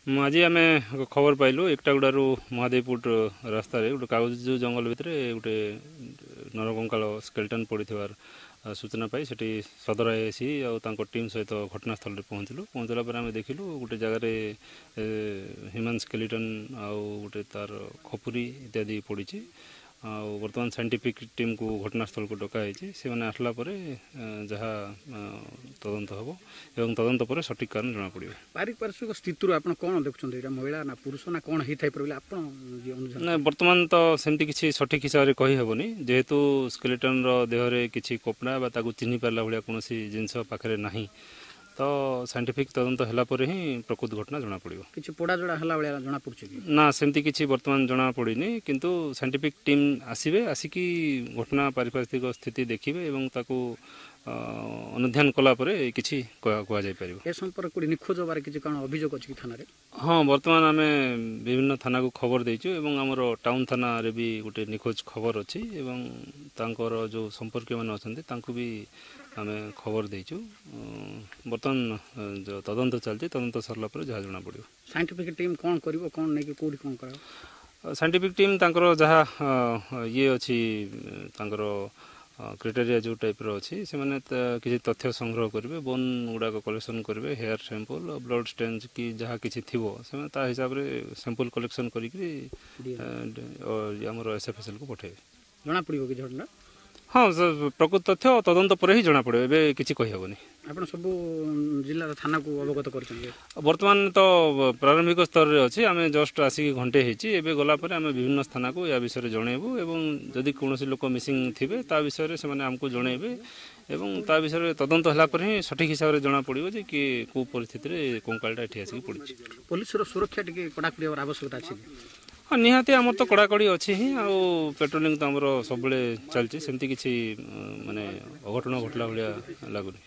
ଆଜି ଆମେ ଖବର ପାଇଲୁ ଏକଟାଗୁଡ଼ାରୁ ମହାଦେବପୁଟ ରାସ୍ତାରେ ଗୋଟେ କାଗଜ ଜଙ୍ଗଲ ଭିତରେ ଗୋଟେ ନରକଙ୍କାଳ ସ୍କେଲ୍ଟନ୍ ପଡ଼ିଥିବାର ସୂଚନା ପାଇ ସେଠି ସଦର ଆଇଆଇସି ଆଉ ତାଙ୍କ ଟିମ୍ ସହିତ ଘଟଣାସ୍ଥଳରେ ପହଞ୍ଚିଲୁ। ପହଞ୍ଚିଲା ପରେ ଆମେ ଦେଖିଲୁ ଗୋଟେ ଜାଗାରେ ହ୍ୟୁମାନ୍ ସ୍କେଲିଟନ୍ ଆଉ ଗୋଟେ ତାର ଖପୁରୀ ଇତ୍ୟାଦି ପଡ଼ିଛି। ଆଉ ବର୍ତ୍ତମାନ ସାଇଣ୍ଟିଫିକ୍ ଟିମ୍କୁ ଘଟଣାସ୍ଥଳକୁ ଡକା ହେଇଛି। ସେମାନେ ଆସିଲା ପରେ ଯାହା ତଦନ୍ତ ହେବ ଏବଂ ତଦନ୍ତ ପରେ ସଠିକ୍ କାରଣ ଜଣାପଡ଼ିବ। ପାରିପାର୍ଶ୍ୱିକ ସ୍ଥିତିରୁ ଆପଣ କ'ଣ ଦେଖୁଛନ୍ତି? ଏଇଟା ମହିଳା ନା ପୁରୁଷ ନା କ'ଣ ହେଇଥାଇପାରେ ବୋଲି ଆପଣ ନା? ବର୍ତ୍ତମାନ ତ ସେମିତି କିଛି ସଠିକ୍ ହିସାବରେ କହିହେବନି, ଯେହେତୁ ସ୍କେଲିଟନ୍ର ଦେହରେ କିଛି କପଡ଼ା ବା ତାକୁ ଚିହ୍ନି ପାରିଲା ଭଳିଆ କୌଣସି ଜିନିଷ ପାଖରେ ନାହିଁ। ତ ସାଇଣ୍ଟିଫିକ୍ ତଦନ୍ତ ହେଲା ପରେ ହିଁ ପ୍ରକୃତ ଘଟଣା ଜଣାପଡ଼ିବ। କିଛି ପୋଡ଼ା ଜଡ଼ା ହେଲା ଭଳିଆ ଜଣାପଡ଼ୁଛି କି ନା? ସେମିତି କିଛି ବର୍ତ୍ତମାନ ଜଣାପଡ଼ିନି, କିନ୍ତୁ ସାଇଣ୍ଟିଫିକ୍ ଟିମ୍ ଆସିବେ, ଆସିକି ଘଟଣା ପାରିପାର୍ଶ୍ୱିକ ସ୍ଥିତି ଦେଖିବେ ଏବଂ ତାକୁ ଅନୁଧ୍ୟାନ କଲା ପରେ କିଛି କୁହାଯାଇପାରିବ। ଏ ସମ୍ପର୍କରେ ନିଖୋଜ ହେବାର କିଛି କ'ଣ ଅଭିଯୋଗ ଅଛି କି ଥାନାରେ? ହଁ, ବର୍ତ୍ତମାନ ଆମେ ବିଭିନ୍ନ ଥାନାକୁ ଖବର ଦେଇଛୁ ଏବଂ ଆମର ଟାଉନ୍ ଥାନାରେ ବି ଗୋଟେ ନିଖୋଜ ଖବର ଅଛି ଏବଂ ତାଙ୍କର ଯେଉଁ ସମ୍ପର୍କୀୟମାନେ ଅଛନ୍ତି ତାଙ୍କୁ ବି ଆମେ ଖବର ଦେଇଛୁ। ବର୍ତ୍ତମାନ ତଦନ୍ତ ଚାଲିଛି, ତଦନ୍ତ ସରିଲା ପରେ ଯାହା ଜଣାପଡ଼ିବ। ସାଇଣ୍ଟିଫିକ୍ ଟିମ୍ କ'ଣ କରିବ, କ'ଣ ନେଇକି କେଉଁଠି କ'ଣ କରିବ? ସାଇଣ୍ଟିଫିକ୍ ଟିମ୍ ତାଙ୍କର ଯାହା ଇଏ ଅଛି, ତାଙ୍କର କ୍ରାଇଟେରିଆ ଯେଉଁ ଟାଇପ୍ର ଅଛି, ସେମାନେ କିଛି ତଥ୍ୟ ସଂଗ୍ରହ କରିବେ, ବୋନ୍ ଗୁଡ଼ାକ କଲେକ୍ସନ୍ କରିବେ, ହେୟାର ସାମ୍ପଲ୍, ବ୍ଲଡ଼ ଷ୍ଟେନ୍ସ କି ଯାହା କିଛି ଥିବ ସେମାନେ ତା ହିସାବରେ ସାମ୍ପଲ୍ କଲେକ୍ସନ୍ କରିକି ଆମର ଏସ୍ଏଫ୍ଏସ୍ଏଲ୍କୁ ପଠାଇବେ। ଜଣାପଡ଼ିବ କି ଘଟଣା? ହଁ, ପ୍ରକୃତ ତଥ୍ୟ ତଦନ୍ତ ପରେ ହିଁ ଜଣାପଡ଼ିବ, ଏବେ କିଛି କହିହେବନି। ଆପଣ ସବୁ ଜିଲ୍ଲାର ଥାନାକୁ ଅବଗତ କରିଛନ୍ତି? ବର୍ତ୍ତମାନ ତ ପ୍ରାରମ୍ଭିକ ସ୍ତରରେ ଅଛି, ଆମେ ଜଷ୍ଟ ଆସିକି ଘଣ୍ଟେ ହେଇଛି। ଏବେ ଗଲା ପରେ ଆମେ ବିଭିନ୍ନ ସ୍ଥାନକୁ ୟା ବିଷୟରେ ଜଣାଇବୁ ଏବଂ ଯଦି କୌଣସି ଲୋକ ମିସିଂ ଥିବେ ତା ବିଷୟରେ ସେମାନେ ଆମକୁ ଜଣାଇବେ ଏବଂ ତା ବିଷୟରେ ତଦନ୍ତ ହେଲା ପରେ ହିଁ ସଠିକ୍ ହିସାବରେ ଜଣାପଡ଼ିବ ଯେ କି କେଉଁ ପରିସ୍ଥିତିରେ କଙ୍କାଳଟା ଏଠି ଆସିକି ପଡ଼ିଛି। ପୋଲିସର ସୁରକ୍ଷା ଟିକେ କଡ଼ାକଡ଼ି ହେବାର ଆବଶ୍ୟକତା ଅଛି କି? ହଁ, ନିହାତି। ଆମର ତ କଡ଼ାକଡ଼ି ଅଛି ହିଁ, ଆଉ ପେଟ୍ରୋଲିଂ ତ ଆମର ସବୁବେଳେ ଚାଲିଛି। ସେମିତି କିଛି ମାନେ ଅଘଟଣ ଘଟିଲା ଭଳିଆ ଲାଗୁନି।